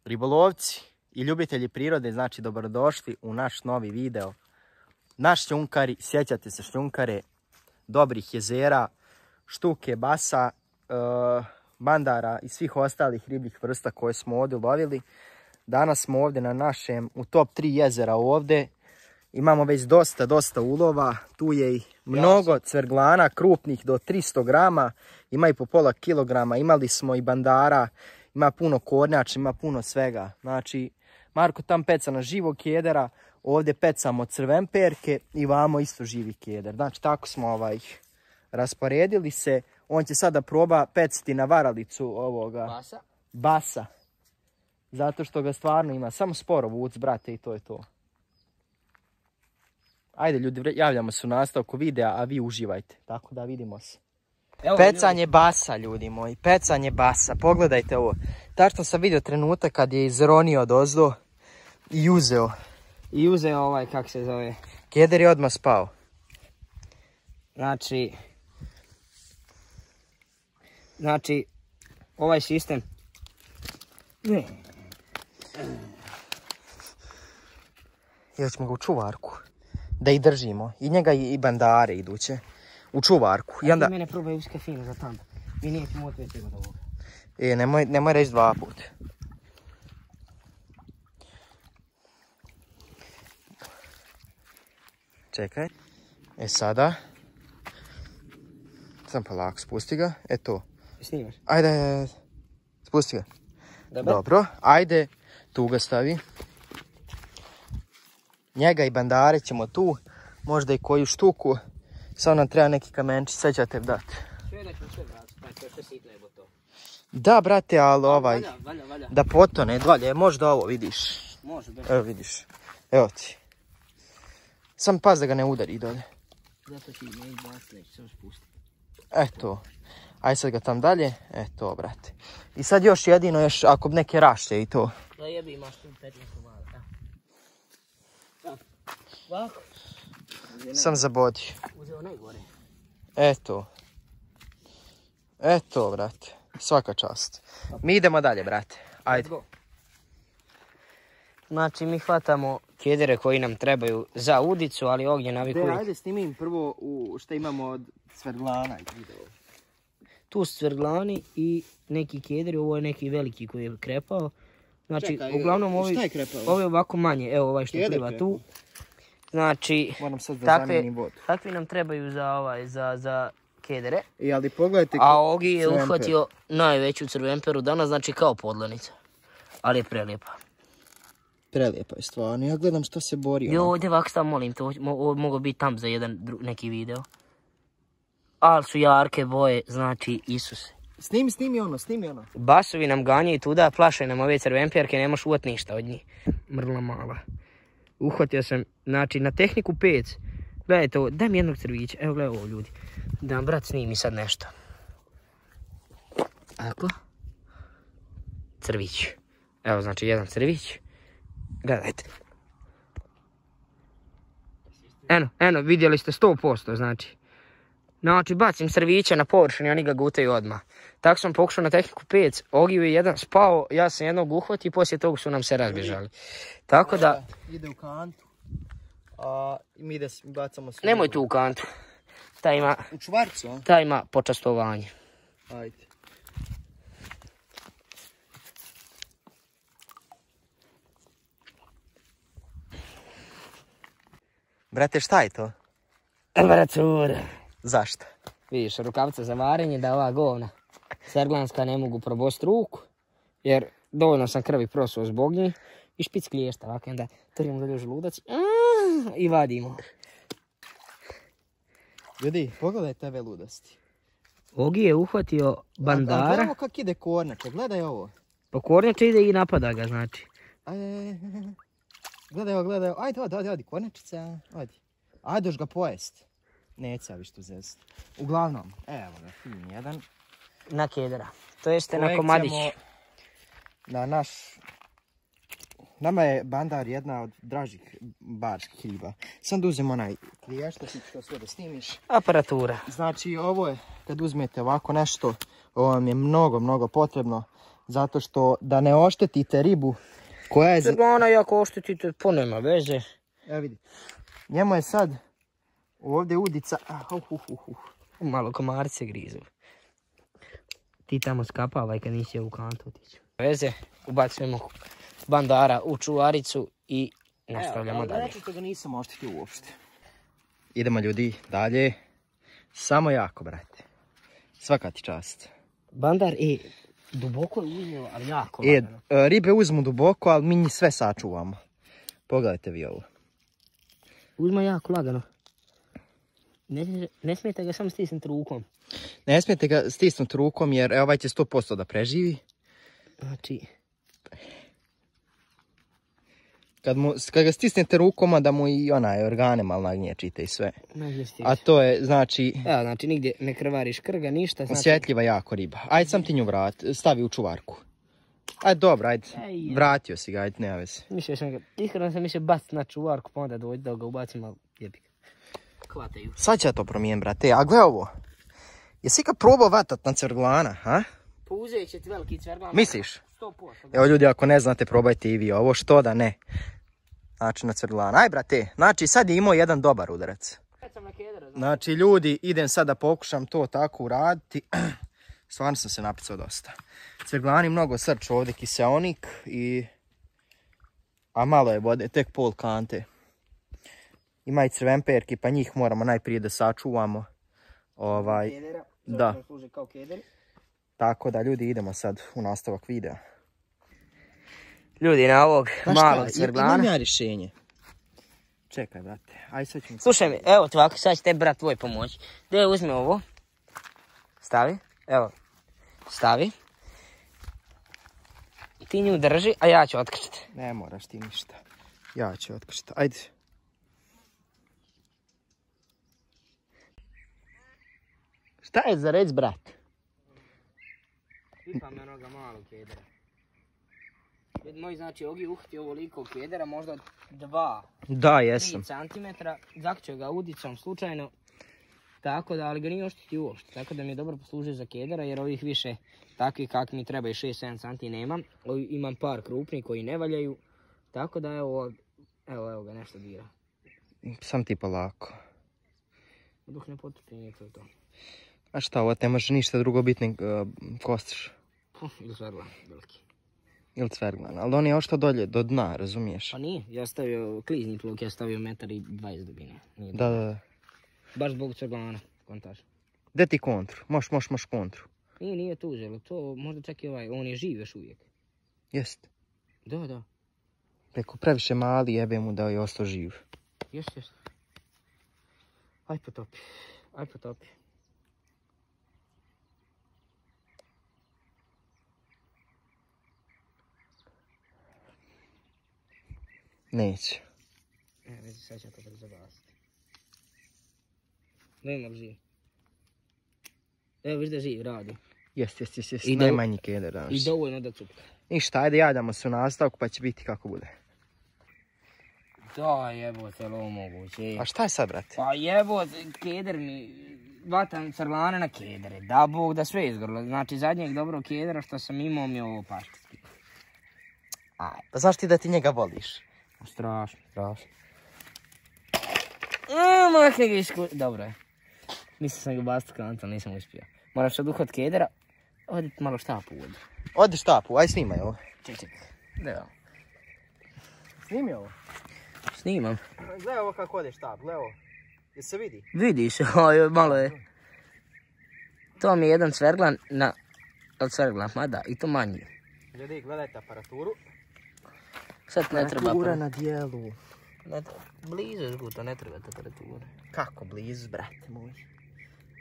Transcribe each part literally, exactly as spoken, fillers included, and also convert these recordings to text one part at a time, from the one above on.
Ribolovci i ljubitelji prirode, znači dobrodošli u naš novi video. Naš šljunkari, sjećate se šljunkare, dobrih jezera, štuke, basa, e, bandara i svih ostalih ribljih vrsta koje smo ovdje lovili. Danas smo ovdje na našem, u top tri jezera ovdje. Imamo već dosta, dosta ulova. Tu je i mnogo cverglana, krupnih do tristo grama. Ima i po pola kilograma. Imali smo i bandara. Ima puno kornjača, ima puno svega. Znači, Marko tam peca na živog kedera. Ovdje pecamo crvenperke i vamo isto živi keder. Znači, tako smo ovaj, rasporedili se. On će sada proba peciti na varalicu ovoga Basa. Basa. Zato što ga stvarno ima. Samo sporo vuc, brate, i to je to. Ajde ljudi, javljamo se u nastavku videa, a vi uživajte. Tako da vidimo se. Evo, pecanje ljudi. Basa, ljudi moji. Pecanje basa. Pogledajte ovo. Tačno sam vidio trenutak kad je izronio od ozdo i uzeo. I uzeo ovaj, kak se zove. Keder je odmah spao. Znači, znači, ovaj sistem. Ne. I hoćemo ga u čuvarku. Da ih držimo. I njega i bandare iduće. U čuvarku. I onda... Ti mene probaj uske fino za tam. Mi nećemo otvrti od ovoga. E, nemoj, nemoj reći dva puta. Čekaj. E sada. Sam polako, spusti ga. E to. Snimaš? Ajde, ajde. Spusti ga. Dobro. Dobro. Ajde. Tu ga stavi. Njega i bandare ćemo tu. Možda i koju štuku. Samo nam treba neki kamenčić. Sad ćete dati. Sve da ćemo sve vrati. Pa to je sve sitno je to. Da, brate, ali ovaj. Valja, valja, valja. Da potone. Dvalje. Možda ovo vidiš. Može, bez. Evo vidiš. Evo ti. Sam pas da ga ne udari dolje. Zato ti ne izbaciti, neću samo spustiti. Eto. Aj sad ga tam dalje. Eto, brate. I sad još jedino, još ako neke rašće i to. Da jebi, imaš tu petnaest komada. Evo. Ovako. Sam zabodio. Uzeo najgore. Eto. Eto, brate. Svaka čast. Mi idemo dalje, brate. Ajde. Znači, mi hvatamo kedere koji nam trebaju za udicu, ali ognje navikuje. Ajde, snimi im prvo u šta imamo od cverglana i video. Tu su cverglani i neki kederi, ovo je neki veliki koji je krepao. Znači, čekaj, uglavnom ovi, šta je krepao? ovi ovako manje, evo ovaj što Keder pliva krepao. tu. Znači, moram sad da takve, zamijenim vodu. takvi nam trebaju za, ovaj, za, za kedere. I ali pogledajte... A Ogi je crvenper. uhvatio najveću crvenperu danas, znači kao podlanica. Ali je prelijepa. Prelijepa je stvarno, ja gledam što se bori. Jo, ovdje ovako stav, molim te, ovo mogo biti tam za jedan dru, neki video. Ali su jarke boje, znači Isuse. Snimi, snimi ono, snimi ono. Basovi nam ganjaju tuda, plašaju nam ove crvenperke, ne možeš uvati ništa od njih. Mrla mala. Uhvatio sam, znači, na tehniku pec. Gledajte ovo, daj mi jednog crvića, evo gledaj ovo ljudi. Da nam brat snimi sad nešto. Ako? Crvić. Evo, znači, jedan crvić. Gledajte. Eno, eno, vidjeli ste sto posto, znači. Znači, bacim crvića na površinu i oni ga gutaju odmah. Tako sam pokušao na tehniku pec, Ogiju je jedan spao, ja sam jednog uhvatio i poslije toga su nam se razbježali. Tako da... Ide u kantu, a mi da bacamo sve. Nemoj tu u kantu. Taj ima... U čvarcu, a? Taj ima počastovanje. Ajde. Brate, šta je to? Temperatura. Zašto? Vidiš, rukavca za varenje da ova govna serglanska ne mogu probosti ruku, jer dovoljno sam krvi prosuo zbog njih i špic kliješta, ovako onda trimo dolje u želudac i vadimo. Ljudi, pogledajte ove ludosti. Ogi je uhvatio bandara. A, a gledamo kak ide kornjače, gledaj ovo. Pa kornjače ide i napada ga, znači. Ajde, gledaj ovo, gledaj ovo. Ajde, ajde, ajde, ajde, kornjačica, ajde. Ajde, još ga pojest. Neće viš tu zest. Uglavnom, evo ga, fin jedan. Na kedera. To jeste na komadić. Na naš... Nama je bandar jedna od dražih barskih riba. Sam da uzem onaj kliješ, da ti to sve da snimiš. Aparatura. Znači ovo je, kad uzmete ovako nešto, ovo vam je mnogo, mnogo potrebno. Zato što da ne oštetite ribu koja je... Crglana jako oštetite, po nema veze. Evo vidi. Njemu je sad ovdje udica... Uh, uh, uh, uh. Malo komarce grizu. Ti tamo skapavaj kad nisi u kantu otići. Veze, ubacujemo bandara u čuvaricu i nastavljamo Evo, dalje. Znači što ga nisam oštetio uopšte. Idemo ljudi dalje. Samo jako, brate. Svaka ti čast. Bandar i duboko je uzmio, ali jako E, lagano. ribe uzmu duboko, ali mi njih sve sačuvamo. Pogledajte vi ovo. Uzma jako lagano. Ne, ne smijete ga samo stisnuti rukom. Ne smijete ga stisnuti rukom jer e, ovaj će sto posto da preživi. Znači... Kad, mu, kad ga stisnete rukom, da mu i onaj organe malo nagnječite i sve. A to je, znači... Evo, znači nigdje ne krvariš krga, ništa. Znači... Osjetljiva jako riba. Ajde sam ti nju vrat, stavi u čuvarku. Ajde dobro, ajde. Vratio si ga, ajde, nema veze. Mislio sam ga, iskreno sam mislio baciti na čuvarku, pa onda dođi da ga ubacim, ali jebi ga. Hvataju. Sad će ja to promijen, brate. A gle ovo. Jesi ikad probao vatat na cvrglana, ha? Pa uzet će ti veliki cvrglan. Misliš? sto posto. Evo ljudi, ako ne znate, probajte i vi ovo. Što da ne? Znači na cvrglana. Aj, brate. Znači sad je imao jedan dobar udarac. Znači ljudi, idem sad da pokušam to tako uraditi. Stvarno sam se napicao dosta. Cvrglani mnogo srč ovdje, kiseonik i... A malo je vode, tek pol kante. Ima i crvenperki, pa njih moramo najprije da sačuvamo. Ovaj, da. Tako da ljudi, idemo sad u nastavak videa. Ljudi, na ovog malog cvrglana. Imam ja rješenje. Čekaj, brate. Aj, sad ćemo... Slušaj mi, evo ti ovako, sad će te brat tvoj pomoći. Gdje uzmi ovo. Stavi. Evo. Stavi. Ti nju drži, a ja ću otkrčiti. Ne moraš ti ništa. Ja ću otkrčiti. Ajde. Šta je za reć, brat? Pipam na noga malog kedera. Vidi moj, znači, Ogi uhti ovoliko kedera, možda dva, da, jesam. tri centimetra. Zakću ga udicom slučajno. Tako da, ali ga nije oštiti uopšte. Tako da mi je dobro poslužio za kedera, jer ovih više takvi kak mi treba i šest sedam centi nemam. Ovi, imam par krupnih koji ne valjaju. Tako da, evo, evo, evo ga nešto dira. Sam ti polako. Dok ne potupi, nije to to. A šta, ovo ne može ništa drugo biti nego uh, kostiš? Ili cvrglan, veliki. Ili cvrglan, ali on je ošto dolje, do dna, razumiješ? Pa nije, ja stavio klizni pluk, ja stavio metar i dvadeset dubine. Nije da, da, da. Baš zbog cvrglana, kontaž. Gdje ti kontru? Moš, moš, moš kontru. Nije, nije tu uzelo, to možda čak i ovaj, on je živ još uvijek. Jest. Da, da. Preko previše mali jebe mu da je ostao živ. Jest, jest. Aj potopi, aj potopi. Neće. Ne, vezi, sad ću to brzo gasiti. Nema li živ? Evo, viš da živ, radi. Jest, jest, jest, jest. I Najmanji keder danas. I dovoljno da cupka. Ništa, ajde javljamo se u nastavku pa će biti kako bude. Da, jebote, je li ovo moguće? A šta je sad, brate? Pa jebote, keder mi... Vatam crglane na kedere. Da Bog da sve izgorilo. Znači, zadnjeg dobrog kedera što sam imao mi je ovo paštetski. Aj, pa znaš ti da ti njega voliš? Strašno, strašno. Eee, makne ga isku... Dobro je. Mislim sam ga baciti kantom, nisam uspio. Moraš sad uhvat kedera, oditi malo štapu u vodu. Odi štapu, aj snimaj ovo. Ček, ček. Da. Snimi ovo. Snimam. Gledaj ovo kako ode štap, gledaj ovo. Jel se vidi? Vidi se, oj, malo je. To mi je jedan cvrglan na... Od cvrglan, ma da, i to manji. Ljudi, gledajte aparaturu. Sad ne treba... Aparatura na dijelu. Ne treba. Blizu je zguto, ne treba aparatura. Kako blizu, brate moj.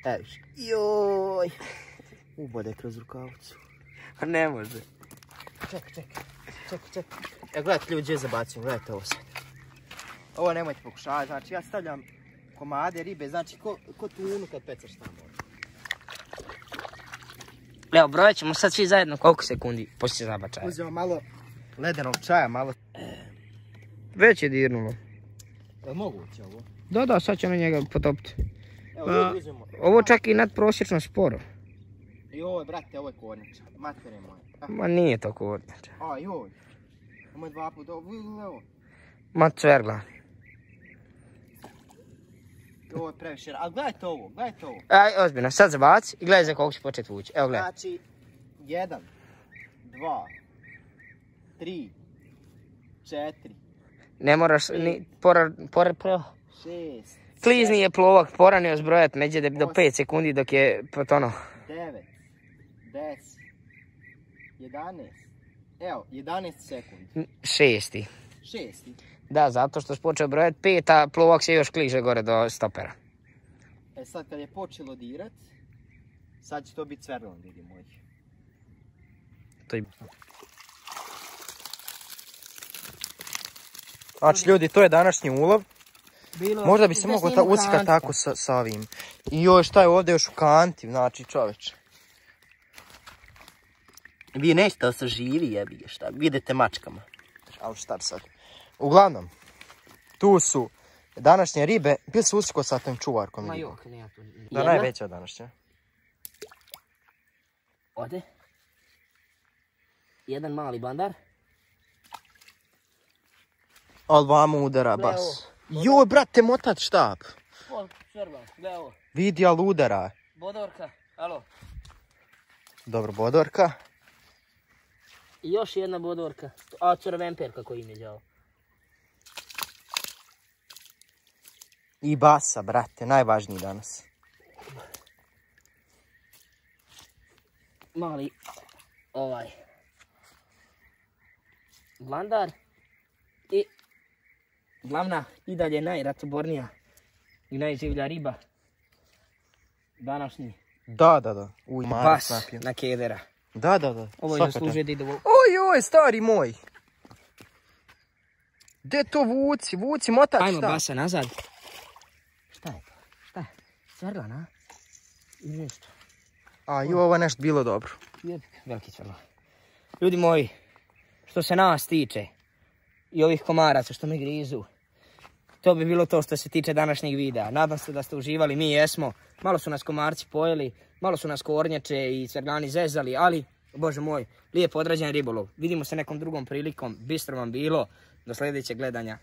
Evo viš. Joj. Ubode kroz rukavicu. Ne može. Čekaj, čekaj. Čekaj, čekaj. Evo gledajte ljudi, gdje zabacim, gledajte ovo sad. Ovo nemojte pokušavati, znači ja stavljam komade ribe, znači ko, ko tunu kad pecaš tamo. Evo, brojat ćemo sad svi zajedno koliko sekundi poslije zabačaja. Uzmemo malo ledenog čaja, malo... Već je dirnulo. Je li moguće ovo? Da, da, sad će na njega potopiti. Evo, ljudi uzmemo. Ovo čak i nadprosječno sporo. Joj, brate, ovo je kornjača. Matere moje. Ah. Ma nije to kornjača. A, joj. Ovo je dva puta, ovo. Ma cvergla. Ovo je previše, ali gledajte ovo, gledajte ovo. Aj, ozbiljno, sad zabaci i gledaj za koliko će početi vući. Evo gledaj. Znači, jedan, dva, tri, četiri. Ne moraš ni, porar, porar, porar. Šest. Klizni je plovak, poranio zbrojat međe do pet sekundi dok je potonuo. Devet, deset, jedanaest. Evo, jedanaest sekundi. Šesti. Šesti. Da, zato što si počeo brojati pet, a plovak se još kliže gore do stopera. E sad kad je počelo dirat, sad će to biti cverlon, ljudi moji. To je... Znači ljudi, to je današnji ulov. Bilo, možda bi se moglo ta uckati tako sa, sa ovim. I još šta je ovdje još u kanti, znači čoveče. Vi nećete da se živi jebi šta, vidite mačkama. Ali šta sad. Uglavnom, tu su današnje ribe, bili su usko sa tom čuvarkom. Ma jok, nema tu. Da, najveća današnja. Ode. Jedan mali bandar. Ali vamo udara bas. Joj, brate, motat štap. O, čvrlo, gledaj ovo. Vidi, ali udara. Bodorka, alo. Dobro, bodorka. I još jedna bodorka. A, crvemper kako im je djavo. I basa, brate, najvažniji danas. Mali, ovaj, blandar i glavna i dalje najratobornija i najživlja riba današnji. Da, da, da. Uj, bas na kedera. Da, da, da. Ovo je zaslužuje da ide ovo. Oj, oj, stari moj. Gdje to vuci, vuci, motač šta? Ajmo basa nazad. Šta je to? Šta je? Cvrlan, a? Ili nešto? A, i ovo je nešto bilo dobro. Veliki cvrlan. Ljudi moji, što se nas tiče i ovih komaraca što me grizu, to bi bilo to što se tiče današnjeg videa. Nadam se da ste uživali, mi jesmo. Malo su nas komarci pojeli, malo su nas kornjače i cvrljani zezali, ali, bože moj, lijepo odrađen ribolov. Vidimo se nekom drugom prilikom, bistro vam bilo, do sljedećeg gledanja.